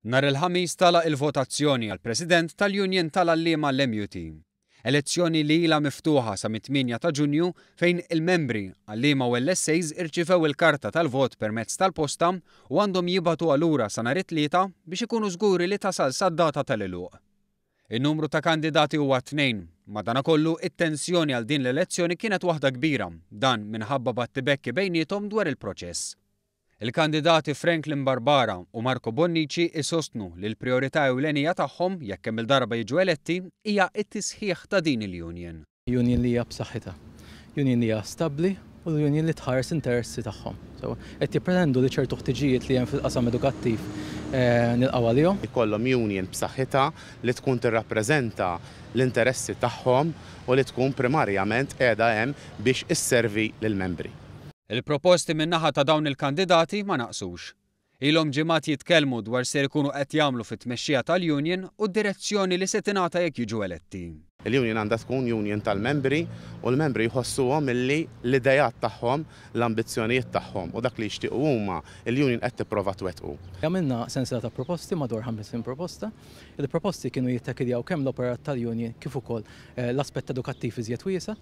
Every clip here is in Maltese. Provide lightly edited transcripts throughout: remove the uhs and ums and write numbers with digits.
Nhar il-Ħamis tagħlaq il-votazzjoni għall-President tal-Union tal-Għalliema l-MUT. Elezzjoni li ilha miftuħa sa mit-tmienja ta' Ġunju fejn il-membri, għalliema u LSAs irċivew il-karta tal-vot permezz tal-posta u għandhom jibagħtuha lura sa nhar it-Tlieta biex ikunu żguri li tasal sad-data tal-għeluq. In-numru ta' kandidati huwa tnejn. Madanakollu, it-tensjoni għal din l-elezzjoni kienet waħda kbira, dan minħabba battibekki bejniethom dwar il-proċess. Il-kandidati Franklin Barbara u Marco Bonnici isostnu li l-prijorità ewlenija tagħhom, jekk kemm-il darba jiġu eletti, hija t-tisħiħ ta' din il-union. Union li hija b'saħħitha. Union li hija stabbli u l-union li tħares l-interessi tagħhom. Sewwa. Qed jippretendu li ċertu ħtiġijiet li hemm fil-qasam edukattiv nilqgħu għalihom. Ikollhom union b'saħħitha li tkun tirrappreżenta l-interessi tagħhom u li tkun primarjament qiegħda hemm biex isservi lill-membri. Il-proposti min-naħa ta' dawn il-kandidati ma naqsux. Ilhom ġimgħat jitkellmu dwar x'ser ikunu qed jagħmlu fit-tmexxija tal-union u d-direzzjoni li se tingħata jekk jiġu eletti. Il-union għandha tkun union tal-membri u l-membri jħossuhom illi l-ideat tagħhom, l-ambizzjonijiet tagħhom u dak li jixtiequ huma, il-union qed tipprova twettqu. Għamilna sensiela ta' proposti, madwar 50 proposta. Il-proposti kienu jittakiljaw kemm l-operat tal-union kif ukoll l-aspett edukattiv iżjed wiesa'.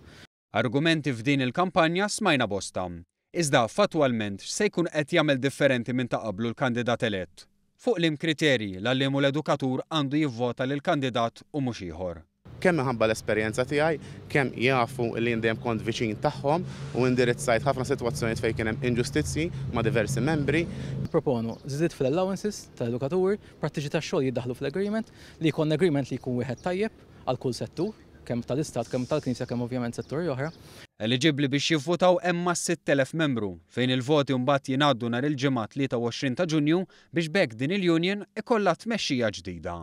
Argumenti f'din il-kampanja smajna bosta. Iżda, fattwalment, x'se jkun qed jagħmel differenti minn ta' qablu l-kandidat elett? Fuq liem kriterji l-għalliem u l-edukatur għandu jivvota lil kandidat u mhux ieħor? Kemm minħabba l-esperjenza tiegħi, kemm jafu li jien dejjem kont viċin tagħhom u indirizzajt ħafna sitwazzjonijiet fejn kien hemm inġustizzji ma' diversi membri. Nipproponu żidiet fl-allowances tal-edukaturi, prattiċi tax-xogħol jiddaħħlu fl-agreement, li jkollna agreement li jkun wieħed tajjeb għal kull settur. kemm tal-Istat, kemm tal-Knisja, kemm ovvjament setturi oħra. Eliġibbli biex jivvutaw hemm mas-6,000 membru, fejn il-voti mbagħad jingħaddu nhar il-Ġimgħa 23 ta' Ġunju biex b'hekk din il-union ikollha tmexxija ġdida.